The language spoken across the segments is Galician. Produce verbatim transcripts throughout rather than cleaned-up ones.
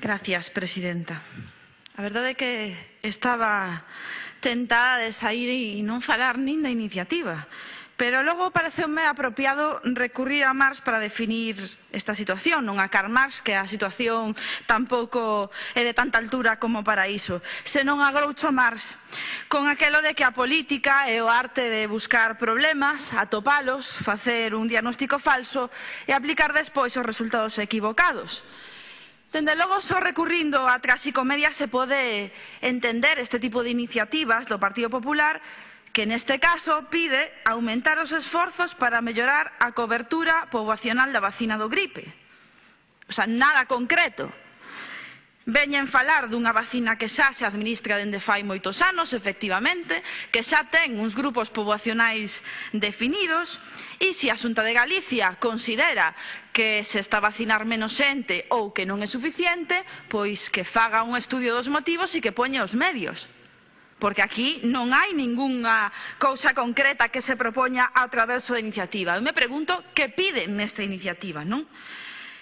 Gracias, presidenta. A verdade é que estaba tentada de saír e non falar nin da iniciativa, pero logo pareceume apropiado recurrir a Marx para definir esta situación, non a Karl Marx, que a situación tampouco é de tanta altura como para iso, senón a Groucho Marx, con aquelo de que a política é o arte de buscar problemas, atopalos, facer un diagnóstico falso e aplicar despois os resultados equivocados. Dende logo, só recurrindo á traxicomedia se pode entender este tipo de iniciativas do Partido Popular, que neste caso pide aumentar os esforzos para mellorar a cobertura poboacional da vacina do gripe. O sea, nada concreto. Veñen falar dunha vacina que xa se administra dende fai moitos anos, efectivamente, que xa ten uns grupos poboacionais definidos, e se a Xunta de Galicia considera que se está a vacinar menos xente ou que non é suficiente, pois que faga un estudio dos motivos e que poña os medios. Porque aquí non hai ningunha cousa concreta que se propoña a través da iniciativa. Eu me pregunto que piden nesta iniciativa, non?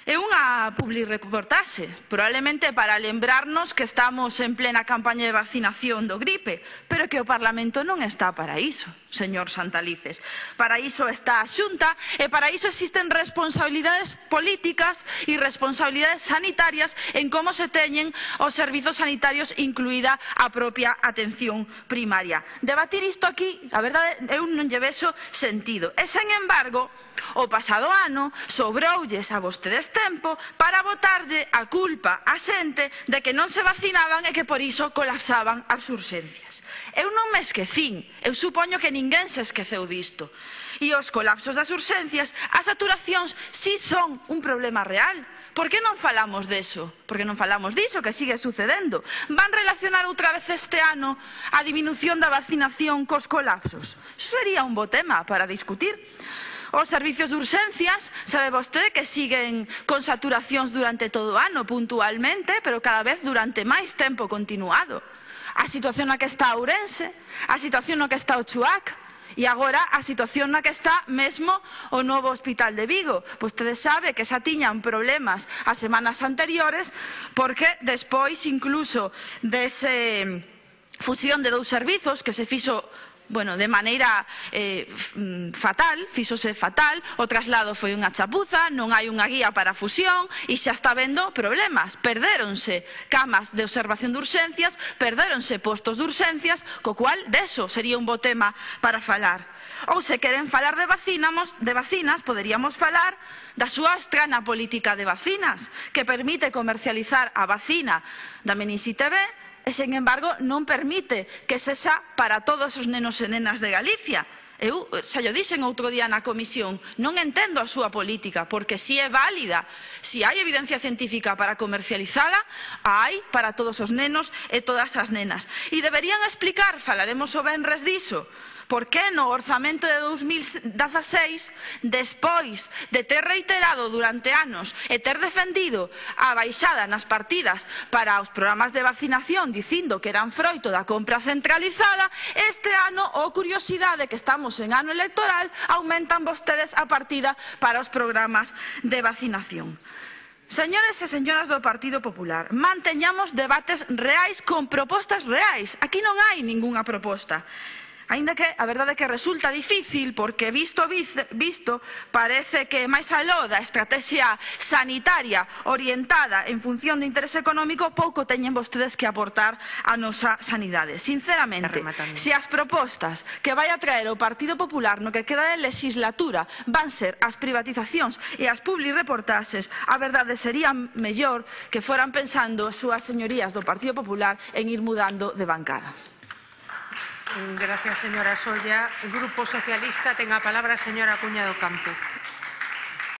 É unha publireportaxe, probablemente para lembrarnos que estamos en plena campaña de vacinación do gripe, pero que o Parlamento non está para iso, señor Santalices. Para iso está a Xunta e para iso existen responsabilidades políticas e responsabilidades sanitarias en como se teñen os servizos sanitarios, incluída a propia atención primaria. Debatir isto aquí, a verdade, eu non lle vexo sentido. E, sen embargo, o pasado ano sobroulles a vostedes tempo para botarlle a culpa á xente de que non se vacinaban e que por iso colapsaban as urxencias. Eu non me esquecín, eu supoño que ninguén se esqueceu disto. E os colapsos das urxencias, as saturacións, si son un problema real. Por que non falamos deso? Porque non falamos diso, que sigue sucedendo. Van relacionar outra vez este ano a diminución da vacinación cos colapsos? Iso sería un bo tema para discutir. Os servicios de urxencias, sabe vostede que siguen con saturacións durante todo o ano, puntualmente, pero cada vez durante máis tempo continuado. A situación na que está Ourense, a situación na que está o Chuac, e agora a situación na que está mesmo o novo hospital de Vigo. Vostede sabe que xa tiñan problemas as semanas anteriores, porque despois incluso dese fusión de dous servizos que se fixo bueno, de maneira eh, fatal, fíxose fatal, o traslado foi unha chapuza, non hai unha guía para a fusión e xa está vendo problemas. Perdéronse camas de observación de urxencias, perdéronse postos de urxencias, co cual deso sería un bo tema para falar. Ou se queren falar de vacinas, de vacinas, poderíamos falar da súa estrana política de vacinas, que permite comercializar a vacina da meningite B, e, sen embargo, non permite que sexa para todos os nenos e nenas de Galicia. Eu xa llo dixen outro día na comisión, non entendo a súa política, porque si é válida, si hai evidencia científica para comercializala, hai para todos os nenos e todas as nenas. E deberían explicar, falaremos o venres diso, por que no orzamento de dos mil dezaseis, despois de ter reiterado durante anos e ter defendido a baixada nas partidas para os programas de vacinación dicindo que eran froito da compra centralizada, este ano, oh curiosidade, que estamos en ano electoral, aumentan vostedes a partida para os programas de vacinación. Señores e señoras do Partido Popular, manteñamos debates reais con propostas reais. Aquí non hai ningunha proposta. Aínda que a verdade é que resulta difícil, porque visto visto parece que máis aló da estrategia sanitaria orientada en función do interese económico, pouco teñen vostedes que aportar á nosa sanidade. Sinceramente, se as propostas que vai a traer o Partido Popular no que queda de legislatura van ser as privatizacións e as publireportaxes, a verdade sería mellor que foran pensando as súas señorías do Partido Popular en ir mudando de bancada. Gracias, señora Solla. El Grupo Socialista ten a palabra a señora Cuña do Campo.